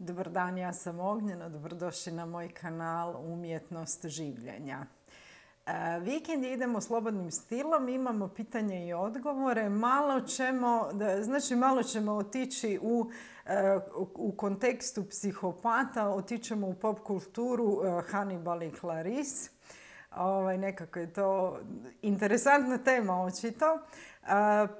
Dobar dan, ja sam Ognjena, dobrodošli na moj kanal Umjetnost življenja. Vikend idemo slobodnim stilom, imamo pitanje i odgovore. Malo ćemo otići u kontekstu psihopata, otićemo u pop kulturu Hannibal i Clarice. Nekako je to interesantna tema očito.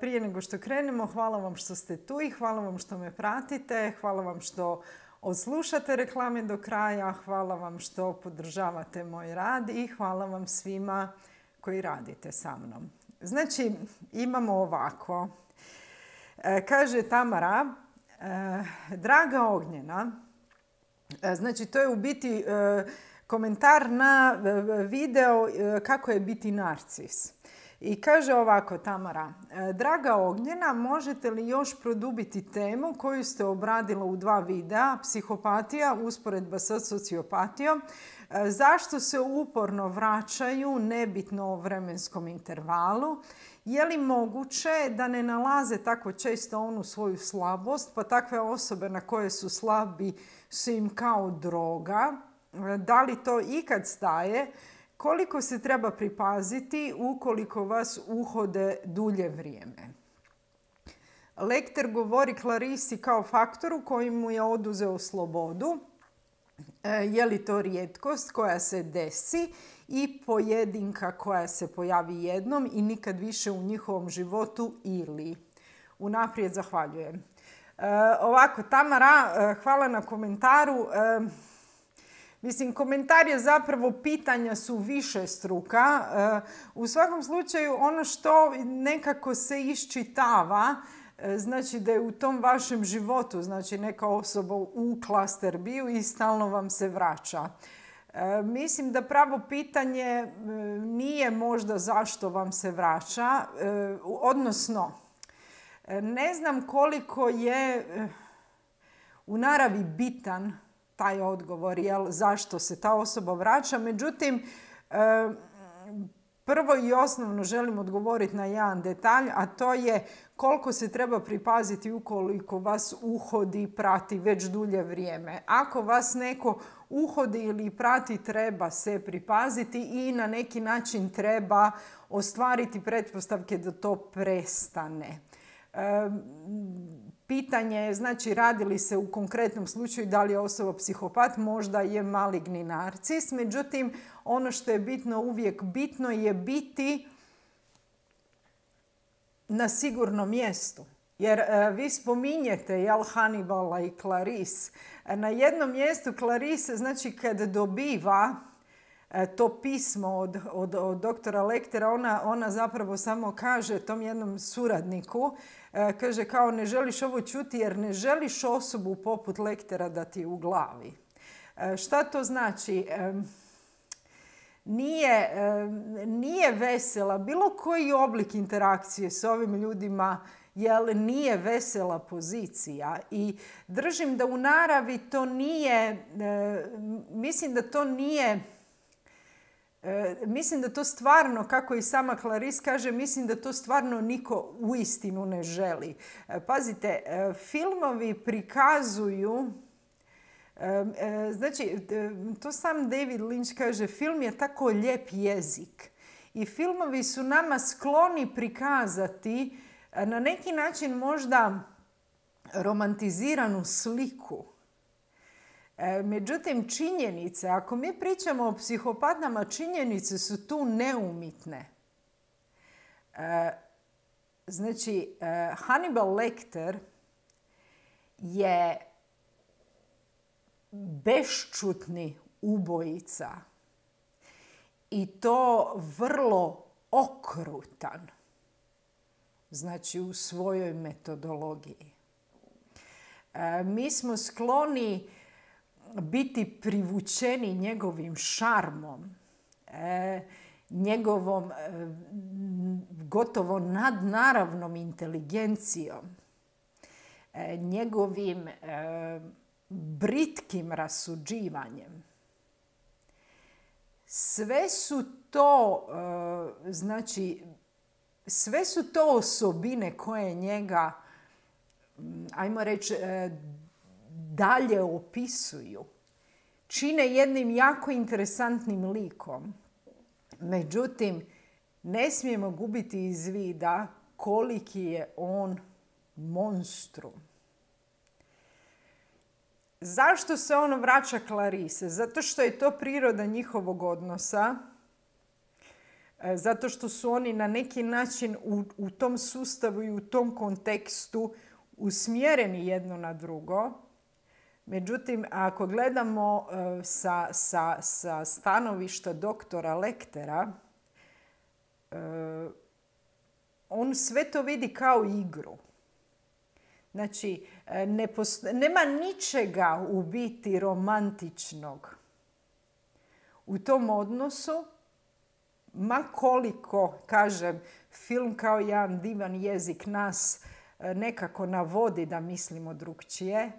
Prije nego što krenemo, hvala vam što ste tu i hvala vam što me pratite. Hvala vam što odslušate reklame do kraja, hvala vam što podržavate moj rad i hvala vam svima koji radite sa mnom. Znači, imamo ovako. Kaže Tamara, draga Ognjena, znači to je u biti komentar na video kako je biti narcis. I kaže ovako Tamara, draga Ognjena, možete li još produbiti temu koju ste obradila u 2 videa, psihopatija, usporedba sa sociopatijom, zašto se uporno vraćaju, nebitno o vremenskom intervalu, je li moguće da ne nalaze tako često onu svoju slabost, pa takve osobe na koje su slabi su im kao droga, da li to ikad staje, koliko se treba pripaziti ukoliko vas uhode dulje vrijeme. Lecter govori Clarisi kao faktoru koji mu je oduzeo slobodu. Je li to rijetkost koja se desi i pojedinka koja se pojavi jednom i nikad više u njihovom životu ili? Unaprijed zahvaljujem. Ovako, Tamara, hvala na komentaru. Mislim, komentar je zapravo, pitanja su višestruka. U svakom slučaju, ono što nekako se iščitava, znači da je u tom vašem životu, znači neka osoba u cluster bio i stalno vam se vraća. Mislim da pravo pitanje nije možda zašto vam se vraća, odnosno ne znam koliko je u naravi bitan taj odgovor, zašto se ta osoba vraća. Međutim, prvo i osnovno želim odgovoriti na jedan detalj, a to je koliko se treba pripaziti ukoliko vas uhodi, prati već dulje vrijeme. Ako vas neko uhodi ili prati, treba se pripaziti i na neki način treba ostvariti pretpostavke da to prestane. Pitanje je, znači, radi li se u konkretnom slučaju da li je osoba psihopat, možda je maligni narcis. Međutim, ono što je bitno, uvijek bitno je biti na sigurnom mjestu. Jer vi spominjete Hannibala i Clarice. Na jednom mjestu Clarice, znači kad dobiva to pismo od doktora Lectera, ona zapravo samo kaže tom jednom suradniku, kaže kao ne želiš ovo čuti jer ne želiš osobu poput Lectera da ti u glavi. Šta to znači? Nije vesela. Bilo koji oblik interakcije s ovim ljudima nije vesela pozicija. I držim da u naravi to nije, mislim da to stvarno, kako i sama Clarice kaže, mislim da to stvarno niko uistinu ne želi. Pazite, filmovi prikazuju, znači, to sam David Lynch kaže, film je tako lijep jezik. I filmovi su nama skloni prikazati na neki način možda romantiziranu sliku. Međutim, činjenice, ako mi pričamo o psihopatama, činjenice su tu neumitne. Znači, Hannibal Lecter je bešćutni ubojica i to vrlo okrutan, znači u svojoj metodologiji. Mi smo skloni biti privučeni njegovim šarmom, njegovom gotovo nadnaravnom inteligencijom, njegovim britkim rasuđivanjem. Sve su to osobine koje njega, ajmo reći, dalje opisuju, čine jednim jako interesantnim likom. Međutim, ne smijemo gubiti iz vida koliki je on monstrum. Zašto se on vraća Clarice? Zato što je to priroda njihovog odnosa. Zato što su oni na neki način u tom sustavu i u tom kontekstu usmjereni jedno na drugo. Međutim, ako gledamo sa stanovišta doktora Lectera, on sve to vidi kao igru. Znači, nema ničega u biti romantičnog u tom odnosu, ma koliko, kažem, film kao jedan divan jezik nas nekako navodi da mislimo drukčije.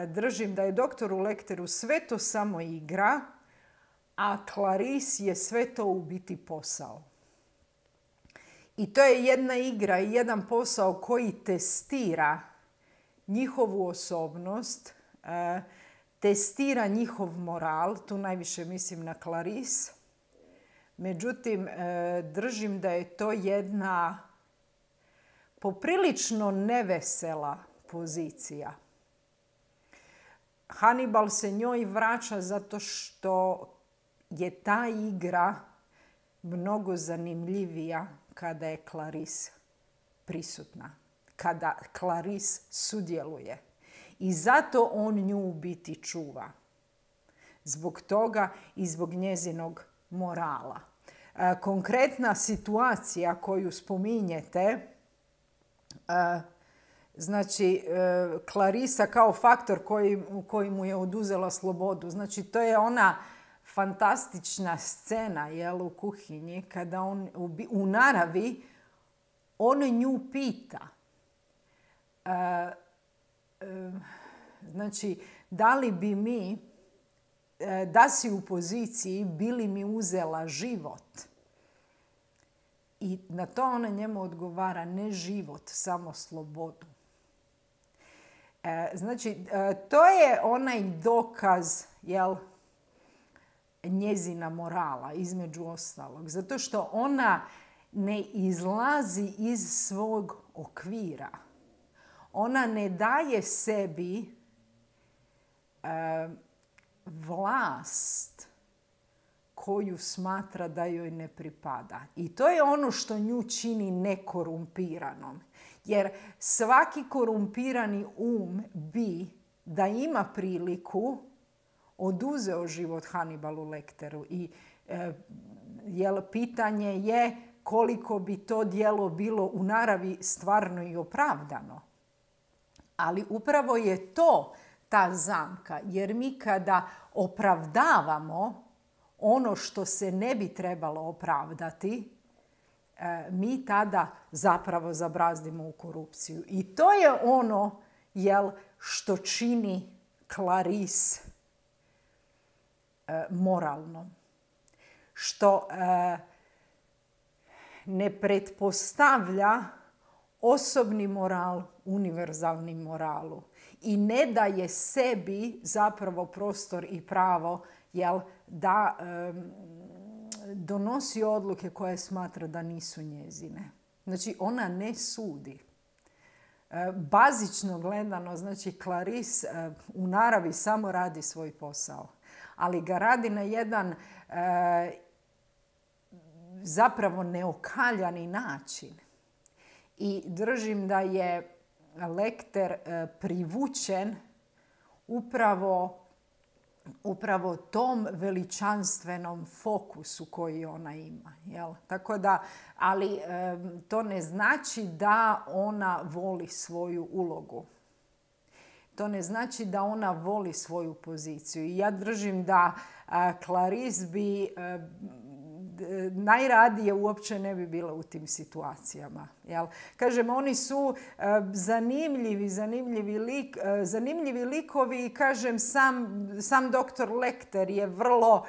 Držim da je doktoru Lecteru sve to samo igra, a Clarice je sve to u biti posao. I to je jedna igra i jedan posao koji testira njihovu osobnost, testira njihov moral, tu najviše mislim na Clarice. Međutim, držim da je to jedna poprilično nevesela pozicija. Hannibal se njoj vraća zato što je ta igra mnogo zanimljivija kada je Clarice prisutna, kada Clarice sudjeluje. I zato on nju u biti čuva. Zbog toga i zbog njezinog morala. Konkretna situacija koju spominjete, znači Clarisa kao faktor koji mu je oduzela slobodu. Znači to je ona fantastična scena u kuhinji kada on u naravi on nju pita. Znači, da li bi mi, da si u poziciji, bi li mi uzela život? I na to ona njemu odgovara, ne život, samo slobodu. Znači, to je onaj dokaz, njezina morala, između ostalog. Zato što ona ne izlazi iz svog okvira. Ona ne daje sebi vlast koju smatra da joj ne pripada. I to je ono što nju čini nekorumpiranom. Jer svaki korumpirani bi, da ima priliku, oduzeo život Hannibalu Lecteru. I pitanje je koliko bi to djelo bilo u naravi stvarno i opravdano. Ali upravo je to ta zamka. Jer mi kada opravdavamo ono što se ne bi trebalo opravdati, mi tada zapravo zabrazdimo u korupciju. I to je ono što čini Clarice moralno. Što ne pretpostavlja osobni moral univerzalnim moralu. I ne daje sebi zapravo prostor i pravo da donosi odluke koje smatra da nisu njezine. Znači, ona ne sudi. Bazično gledano, znači, Clarice u naravi samo radi svoj posao. Ali ga radi na jedan zapravo neokaljani način. I držim da je Lecter privučen upravo tom veličanstvenom fokusu koji ona ima. Tako da, ali to ne znači da ona voli svoju ulogu. To ne znači da ona voli svoju poziciju. I ja držim da Clarice bi najradije uopće ne bi bila u tim situacijama. Kažem, oni su zanimljivi likovi i kažem, sam doktor Lecter je vrlo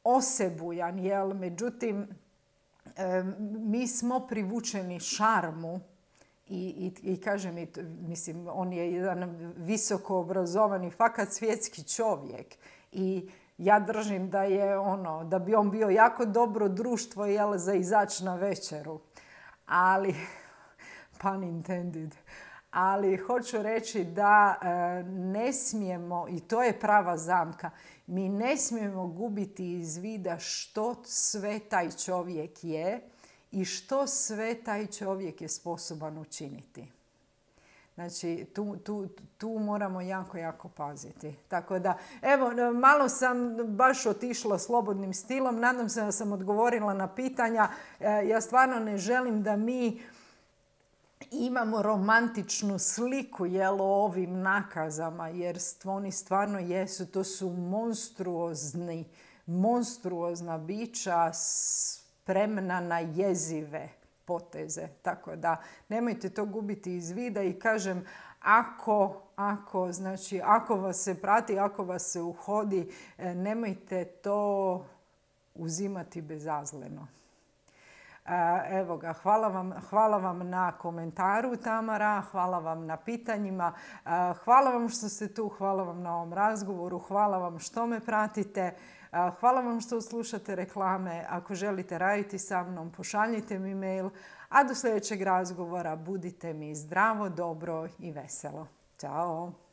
osebujan, međutim, mi smo privučeni šarmu I kaže mi, mislim, on je jedan visoko obrazovani, fakat svjetski čovjek. I ja držim da je da bi on bio jako dobro društvo za izaći na večeru. Ali, pun intended, ali hoću reći da ne smijemo, i to je prava zamka, mi ne smijemo gubiti iz vida što sve taj čovjek je i što sve taj čovjek je sposoban učiniti. Znači, tu moramo jako, jako paziti. Tako da, evo, malo sam baš otišla slobodnim stilom. Nadam se da sam odgovorila na pitanja. Ja stvarno ne želim da mi imamo romantičnu sliku o ovim nakazama, jer oni stvarno jesu. To su monstruozna bića spremna na jezive poteze. Tako da nemojte to gubiti iz vida i kažem, ako vas se prati, ako vas se uhodi, nemojte to uzimati bezazleno. Evo ga, hvala vam na komentaru, Tamara, hvala vam na pitanjima, hvala vam što ste tu, hvala vam na ovom razgovoru, hvala vam što me pratite, hvala vam što slušate reklame. Ako želite raditi sa mnom, pošaljite mi mail, a do sljedećeg razgovora budite mi zdravo, dobro i veselo. Ćao!